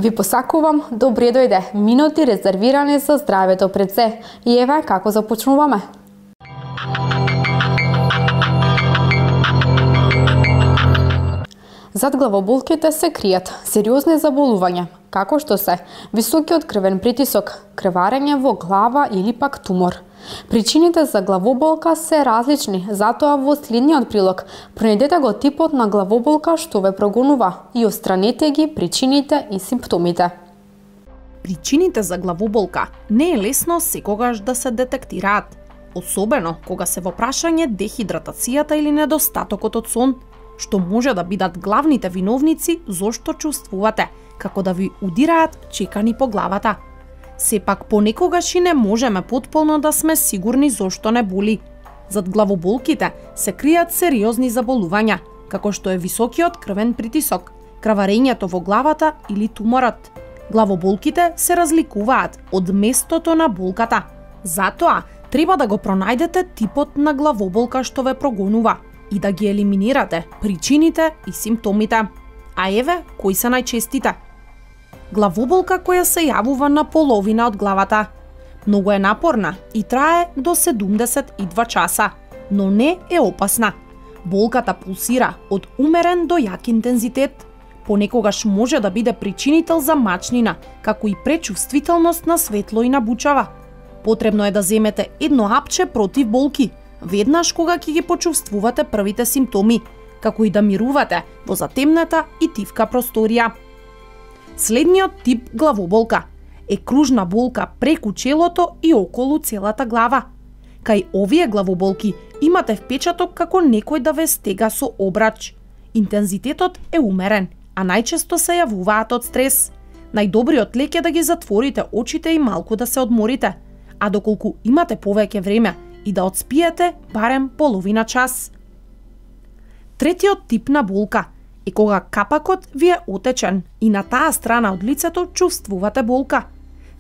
Ви посакувам добре дојде, минути резервирани за здравето пред се. И еве како започнуваме. Зад главоболките се кријат сериозни заболувања, како што се високиот крвен притисок, крварење во глава или пак тумор. Причините за главоболка се различни, затоа во следниот прилог пронајдете го типот на главоболка што ве прогонува и отстранете ги причините и симптомите. Причините за главоболка не е лесно секогаш да се детектираат, особено кога се во прашање дехидратацијата или недостатокот од сон, што може да бидат главните виновници зошто чувствувате како да ви удираат чекани по главата. Сепак понекогаш и не можеме потполно да сме сигурни зошто не боли. Зад главоболките се кријат сериозни заболувања, како што е високиот крвен притисок, крварењето во главата или туморот. Главоболките се разликуваат од местото на болката. Затоа треба да го пронајдете типот на главоболка што ве прогонува и да ги елиминирате причините и симптомите. А еве кои се најчестите. Главоболка која се јавува на половина од главата. Многу е напорна и трае до 72 часа, но не е опасна. Болката пулсира од умерен до јак интензитет. Понекогаш може да биде причинител за мачнина, како и пречувствителност на светло и на бучава. Потребно е да земете едно апче против болки, веднаш кога ќе ги почувствувате првите симптоми, како и да мирувате во затемната и тивка просторија. Следниот тип главоболка е кружна болка преку челото и околу целата глава. Кај овие главоболки имате впечаток како некој да ве стега со обрач. Интензитетот е умерен, а најчесто се јавуваат од стрес. Најдобриот лек е да ги затворите очите и малку да се одморите, а доколку имате повеќе време и да одспиете барем половина час. Третиот тип на болка е кога капакот ви е отечен и на таа страна од лицето чувствувате болка.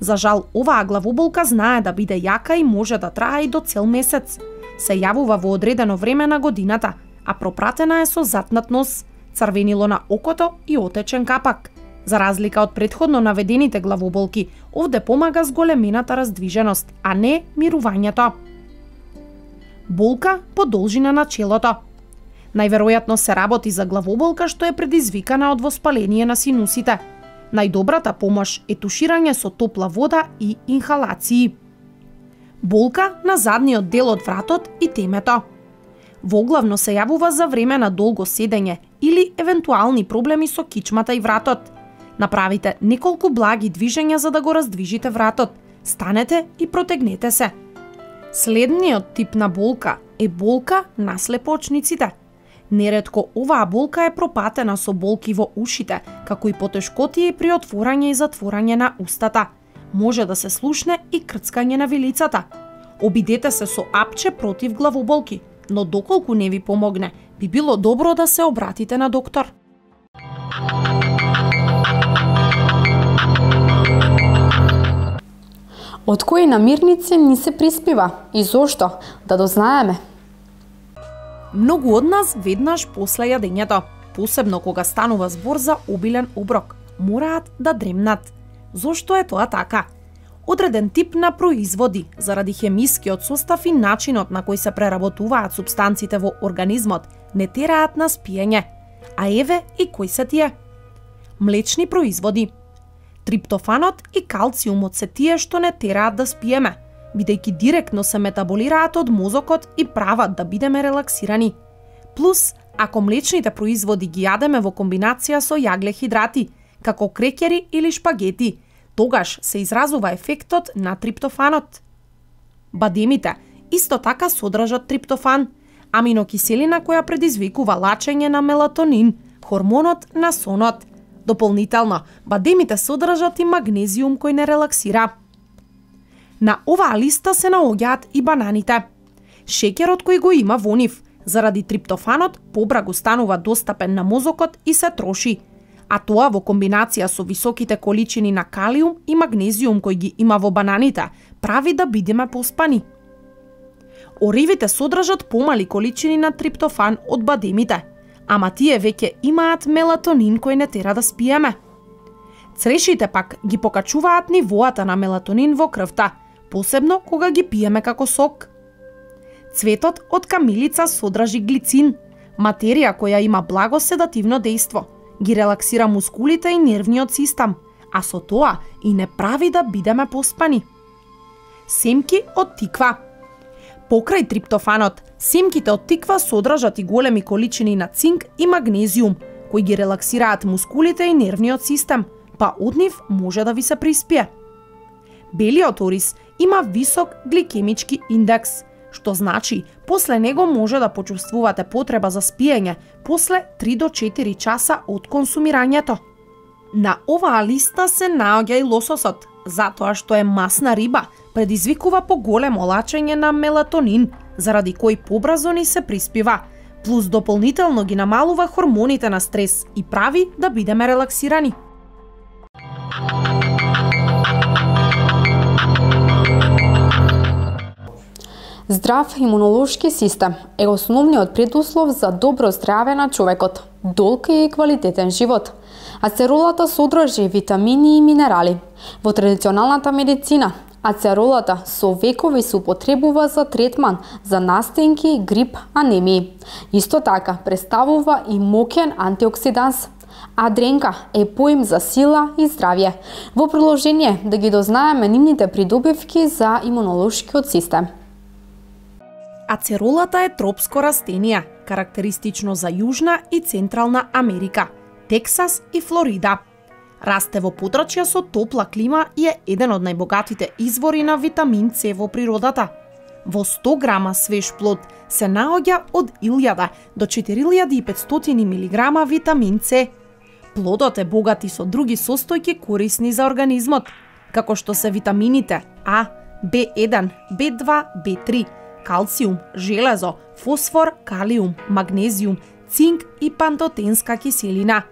За жал, оваа главоболка знае да биде јака и може да трае и до цел месец. Се јавува во одредено време на годината, а пропратена е со затнат нос, црвенило на окото и отечен капак. За разлика од претходно наведените главоболки, овде помага зголемената раздвиженост, а не мирувањето. Болка по должина на челото. Најверојатно се работи за главоболка што е предизвикана од воспаление на синусите. Најдобрата помош е туширање со топла вода и инхалации. Болка на задниот дел од вратот и темето. Воглавно се јавува за време на долго седење или евентуални проблеми со кичмата и вратот. Направите неколку благи движења за да го раздвижите вратот. Станете и протегнете се. Следниот тип на болка е болка на слепоочниците. Неретко оваа болка е пропатена со болки во ушите, како и потешкотии при отворање и затворање на устата. Може да се слушне и крцкање на вилицата. Обидете се со апче против главоболки, но доколку не ви помогне, би било добро да се обратите на доктор. Од кои намирници ни се приспива и зошто? Да дознаеме. Многу од нас веднаш после јадењето, посебно кога станува збор за обилен оброк, мораат да дремнат. Зошто е тоа така? Одреден тип на производи, заради хемискиот состав и начинот на кој се преработуваат супстанците во организмот, не тераат на спиење. А еве и кои се тие? Млечни производи. Триптофанот и калциумот се тие што не тераат да спиеме, бидејќи директно се метаболираат од мозокот и прават да бидеме релаксирани. Плюс, ако млечните производи ги јадеме во комбинација со јаглехидрати, како крекери или шпагети, тогаш се изразува ефектот на триптофанот. Бадемите исто така содржат триптофан, аминокиселина која предизвикува лачење на мелатонин, хормонот на сонот. Дополнително, бадемите содржат и магнезиум кој не релаксира. На оваа листа се наоѓаат и бананите. Шеќерот кој го има во нив, заради триптофанот, побрагу станува достапен на мозокот и се троши. А тоа во комбинација со високите количини на калиум и магнезиум кој ги има во бананите, прави да бидеме поспани. Оривите содржат помали количини на триптофан од бадемите, ама тие веќе имаат мелатонин кој не тера да спиеме. Црешите пак ги покачуваат нивоата на мелатонин во крвта, посебно кога ги пиеме како сок. Цветот од камилица содржи глицин, материја која има благо седативно дејство, ги релаксира мускулите и нервниот систем, а со тоа и не прави да бидеме поспани. Семки од тиква. Покрај триптофанот, семките од тиква содржат и големи количини на цинк и магнезиум, кои ги релаксираат мускулите и нервниот систем, па од нив може да ви се приспие. Белиот ориз има висок гликемички индекс, што значи после него може да почувствувате потреба за спиење после 3 до 4 часа од консумирањето. На оваа листа се наоѓа и лососот, затоа што е масна риба, предизвикува поголемо лачење на мелатонин, заради кој побрзо ни се приспива, плюс дополнително ги намалува хормоните на стрес и прави да бидеме релаксирани. Здрав имунолошки систем е основниот предуслов за добро здраве на човекот, долг и квалитетен живот. Ацеролата содржи витамини и минерали. Во традиционалната медицина, ацеролата со векови се употребува за третман за настинки, грип, анемии. Исто така представува и моќен антиоксиданс. А дренка е поим за сила и здравје. Во продолжение да ги дознаеме нивните придобивки за имунолошкиот систем. Ацеролата е тропско растение, карактеристично за Јужна и Централна Америка, Тексас и Флорида. Расте во подрачја со топла клима и е еден од најбогатите извори на витамин С во природата. Во 100 грама свеж плод се наоѓа од 1000 до 4500 мг витамин С. Плодот е богат и со други состојки корисни за организмот, како што се витамините А, B1, B2, B3, калциум, железо, фосфор, калиум, магнезиум, цинк и пантотенска киселина.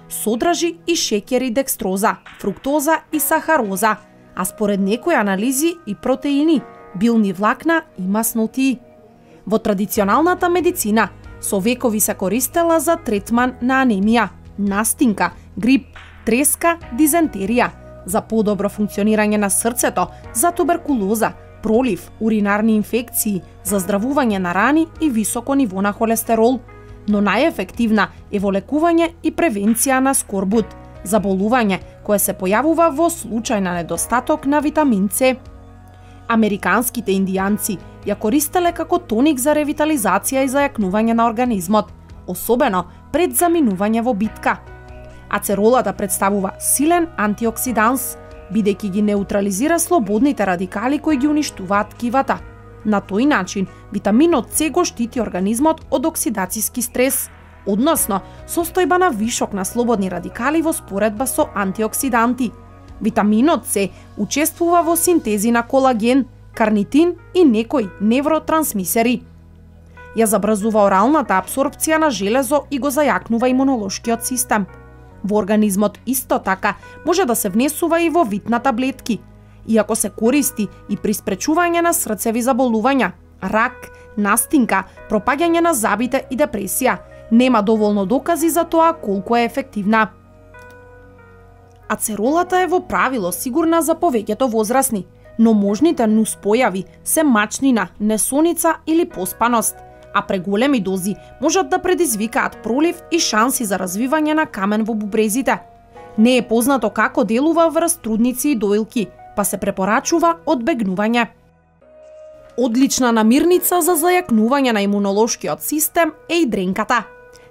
Содржи и шеќер и декстроза, фруктоза и сахароза, а според некои анализи и протеини, билни влакна и маснотии. Во традиционалната медицина со векови се користела за третман на анемија, настинка, грип, треска, дизентерија, за подобро функционирање на срцето, за туберкулоза, пролив, уринарни инфекции, за здравување на рани и високо ниво на холестерол, но најефективна е во лекување и превенција на скорбут, заболување кое се појавува во случај на недостаток на витамин С. Американските индијанци ја користеле како тоник за ревитализација и зајакнување на организмот, особено пред заминување во битка. Ацеролата представува силен антиоксиданс, бидејќи ги неутрализира слободните радикали кои ги уништуваат ткивата. На тој начин, витаминот С го штити организмот од оксидацијски стрес, односно состојба на вишок на слободни радикали во споредба со антиоксиданти. Витаминот С учествува во синтези на колаген, карнитин и некои невротрансмисери. Ја забрзува оралната апсорбција на железо и го зајакнува имунолошкиот систем. Во организмот исто така може да се внесува и во вид на таблетки, иако се користи и при спречување на срцеви заболувања, рак, настинка, пропаѓање на забите и депресија. Нема доволно докази за тоа колку е ефективна. Ацеролата е во правило сигурна за повеќето возрастни, но можните нуспојави се мачнина, несоница или поспаност, а преголеми дози можат да предизвикаат пролив и шанси за развивање на камен во бубрезите. Не е познато како делува врз трудници и доилки, па се препорачува одбегнување. Одлична намирница за зајакнување на имунолошкиот систем е и дренката.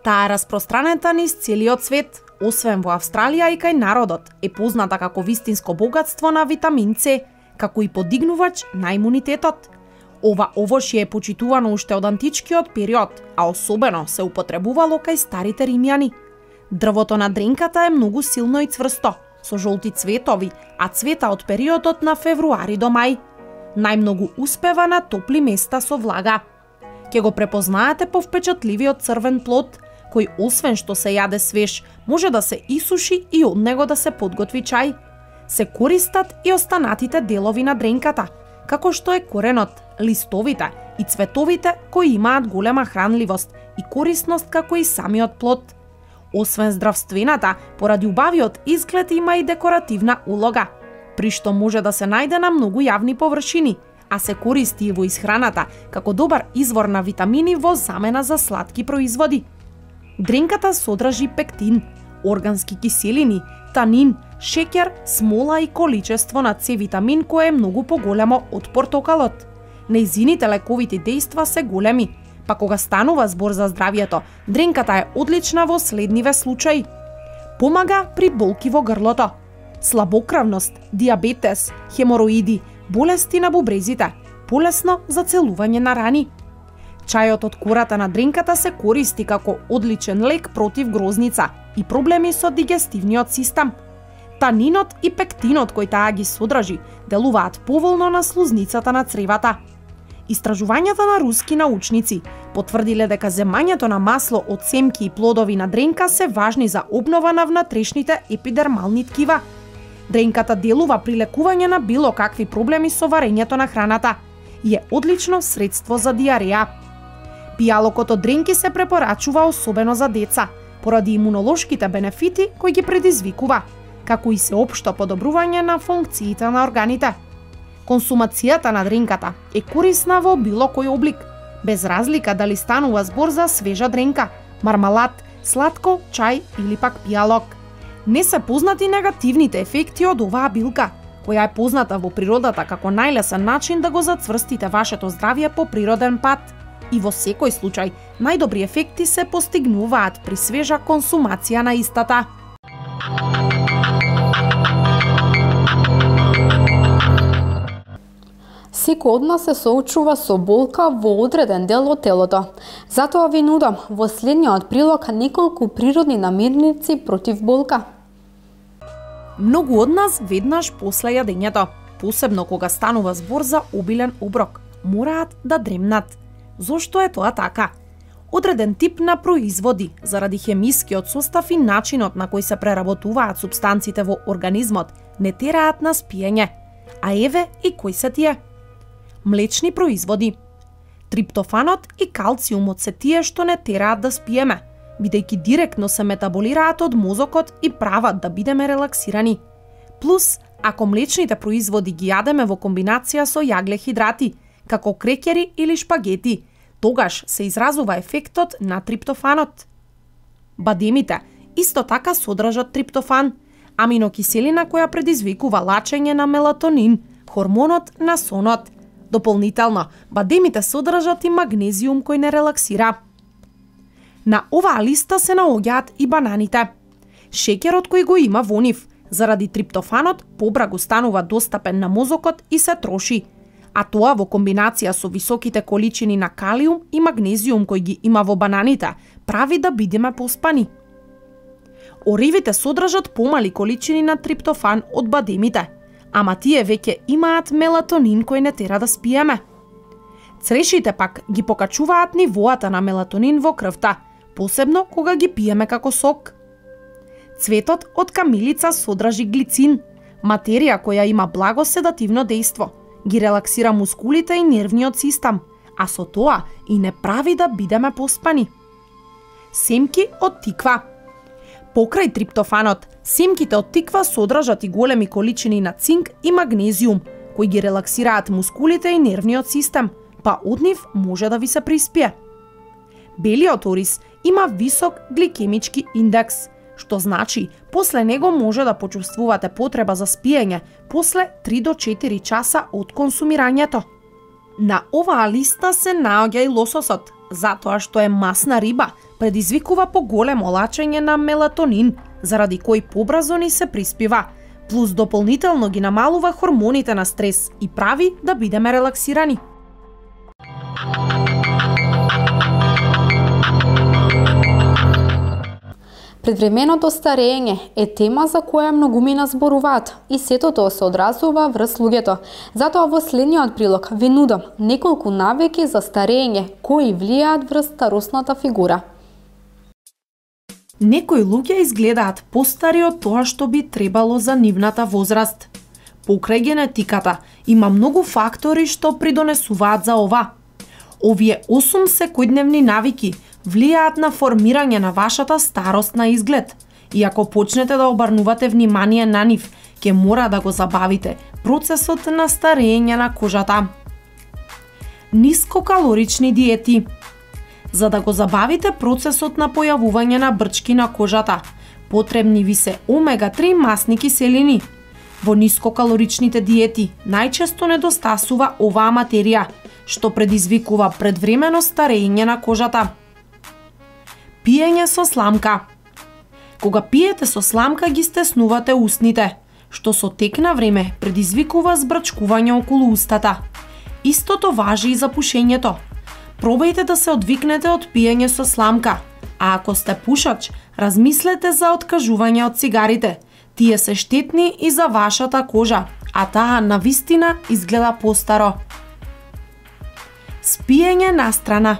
Таа е распространета низ целиот свет, освен во Австралија и кај народот, е позната како вистинско богатство на витамин С, како и подигнувач на имунитетот. Ова овошје е почитувано уште од античкиот период, а особено се употребувало кај старите римјани. Дрвото на дренката е многу силно и цврсто, со жолти цветови, а цвета од периодот на февруари до мај. Најмногу успева на топли места со влага. Ке го препознаете по впечатливиот црвен плод, кој освен што се јаде свеж, може да се исуши и од него да се подготви чај. Се користат и останатите делови на дренката, како што е коренот, листовите и цветовите кои имаат голема хранливост и корисност како и самиот плод. Освен здравствената, поради убавиот изглед има и декоративна улога, при што може да се најде на многу јавни површини, а се користи и во исхраната како добар извор на витамини во замена за сладки производи. Дренката содржи пектин, органски киселини, танин, шеќер, смола и количество на С витамин кое е многу поголемо од портокалот. Нејзините лековити дејства се големи, па кога станува збор за здравието, дренката е одлична во следниве случаи. Помага при болки во грлото, слабокрвност, диабетес, хемороиди, болести на бубрезите, полесно за целување на рани. Чајот од кората на дренката се користи како одличен лек против грозница и проблеми со дигестивниот систем. Танинот и пектинот кои таа ги содржи делуваат поволно на слузницата на цревата. Истражувањата на руски научници потврдиле дека земањето на масло од семки и плодови на дренка се важни за обнова на внатрешните епидермални ткива. Дренката делува при лекување на било какви проблеми со варењето на храната и е одлично средство за диареја. Пијалокот од дренки се препорачува особено за деца, поради имунолошките бенефити кои ги предизвикува, како и сеопшто подобрување на функциите на органите. Консумацијата на дренката е корисна во било кој облик, без разлика дали станува збор за свежа дренка, мармалад, сладко, чај или пак пијалок. Не се познати негативните ефекти од оваа билка, која е позната во природата како најлесен начин да го зацврстите вашето здравје по природен пат. И во секој случај, најдобри ефекти се постигнуваат при свежа консумација на истата. Секој од нас се соочува со болка во одреден дел од телото. Затоа ви нудам во следниот прилог неколку природни намирници против болка. Многу од нас веднаш после јадењето, посебно кога станува збор за обилен оброк, мораат да дремнат. Зошто е тоа така? Одреден тип на производи, заради хемискиот состав и начинот на кој се преработуваат супстанците во организмот, не тераат на спиење. А еве и кои се тие? Млечни производи. Триптофанот и калциумот се тие што не тераат да спиеме, бидејќи директно се метаболираат од мозокот и прават да бидеме релаксирани. Плюс, ако млечните производи ги јадеме во комбинација со јаглехидрати, како крекери или шпагети, тогаш се изразува ефектот на триптофанот. Бадемите исто така содржат триптофан, аминокиселина која предизвикува лачење на мелатонин, хормонот на сонот. Дополнително, бадемите содржат и магнезиум кој не релаксира. На оваа листа се наоѓаат и бананите. Шеќерот кој го има во нив, заради триптофанот, побрагу станува достапен на мозокот и се троши, а тоа во комбинација со високите количини на калиум и магнезиум кој ги има во бананите, прави да бидеме поспани. Оривите содржат помали количини на триптофан од бадемите, ама тие веќе имаат мелатонин кој не тера да спиеме. Црешите пак ги покачуваат нивоата на мелатонин во крвта, посебно кога ги пиеме како сок. Цветот од камилица содржи глицин, материја која има благо седативно дејство, ги релаксира мускулите и нервниот систем, а со тоа и не прави да бидеме поспани. Семки од тиква. Покрај триптофанот, семките од тиква содржат и големи количини на цинк и магнезиум, кои ги релаксираат мускулите и нервниот систем, па од нив може да ви се приспие. Белиот ориз има висок гликемички индекс, што значи после него може да почувствувате потреба за спиење после 3 до 4 часа од консумирањето. На оваа листа се наоѓа и лососот, затоа што е масна риба, предизвикува поголемо лачење на мелатонин, заради кој побрзо ни се приспива, плюс дополнително ги намалува хормоните на стрес и прави да бидеме релаксирани. Предвременото старење е тема за која многумина зборуваат и сето тоа се одразува врз луѓето. Затоа во следниот прилог ви нудам неколку навики за старење кои влијаат врз старосната фигура. Некои луѓе изгледаат постари од тоа што би требало за нивната возраст. Покрај генетиката има многу фактори што придонесуваат за ова. Овие 8 секојдневни навики влијаат на формирање на вашата старост на изглед. И ако почнете да обрнувате внимание на нив, ќе мора да го забавите процесот на старење на кожата. Нискокалорични диети. За да го забавите процесот на појавување на брчки на кожата, потребни ви се омега-3 масни киселини. Во нискокалоричните диети најчесто недостасува оваа материја, што предизвикува предвремено старење на кожата. Пиење со сламка. Кога пиете со сламка ги стеснувате устните, што со тек на време предизвикува збрчкување околу устата. Истото важи и за пушењето. Пробајте да се одвикнете од пиење со сламка, а ако сте пушач, размислете за откажување од цигарите. Тие се штетни и за вашата кожа, а таа навистина изгледа постаро. Спиење настрана.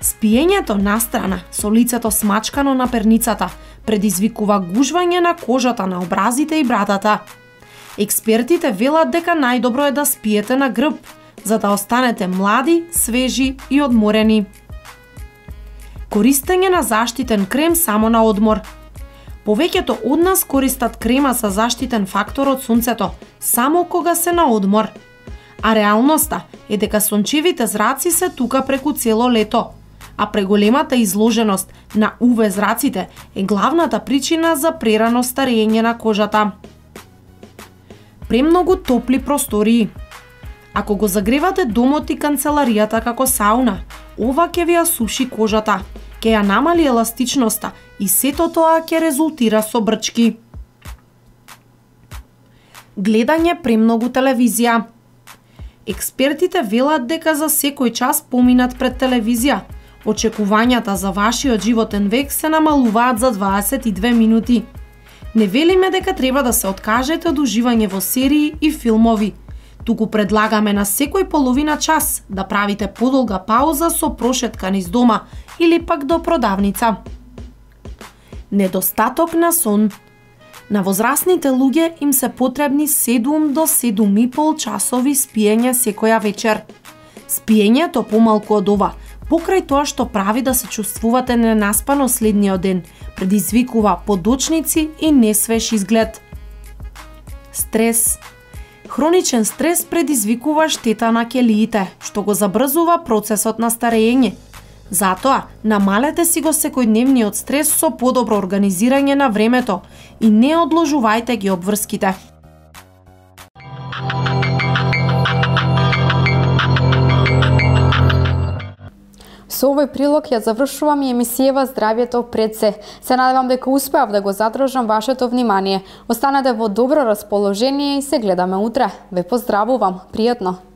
Спиењето настрана со лицето смачкано на перницата предизвикува гужвање на кожата на образите и брадата. Експертите велат дека најдобро е да спиете на грб, за да останете млади, свежи и одморени. Користење на заштитен крем само на одмор. Повеќето од нас користат крема со заштитен фактор од сонцето само кога се на одмор. А реалноста е дека сончевите зраци се тука преку цело лето, а преголемата изложеност на УВ зраците е главната причина за прерано старење на кожата. Премногу топли простории. Ако го загревате домот и канцеларијата како сауна, ова ќе ви ја суши кожата, ќе ја намали еластичноста и сето тоа ќе резултира со брчки. Гледање премногу телевизија. Експертите велат дека за секој час поминат пред телевизија, очекувањата за вашиот животен век се намалуваат за 22 минути. Не велиме дека треба да се откажете од уживање во серии и филмови. Туку предлагаме на секој половина час да правите подолга пауза со прошетка низ дома или пак до продавница. Недостаток на сон. На возрастните луѓе им се потребни 7 до 7,5 часови спиење секоја вечер. Спиењето помалку од ова, покрај тоа што прави да се чувствувате ненаспано следниот ден, предизвикува подочници и несвеж изглед. Стрес. Хроничен стрес предизвикува штета на ќелиите, што го забрзува процесот на старење. Затоа, намалете си го секојдневниот стрес со подобро организирање на времето и не одложувајте ги обврските. Со овој прилог ја завршувам и емисијава Здравјето пред се. Се надевам дека успеав да го задржам вашето внимание. Останете во добро расположение и се гледаме утре. Ве поздравувам. Пријатно.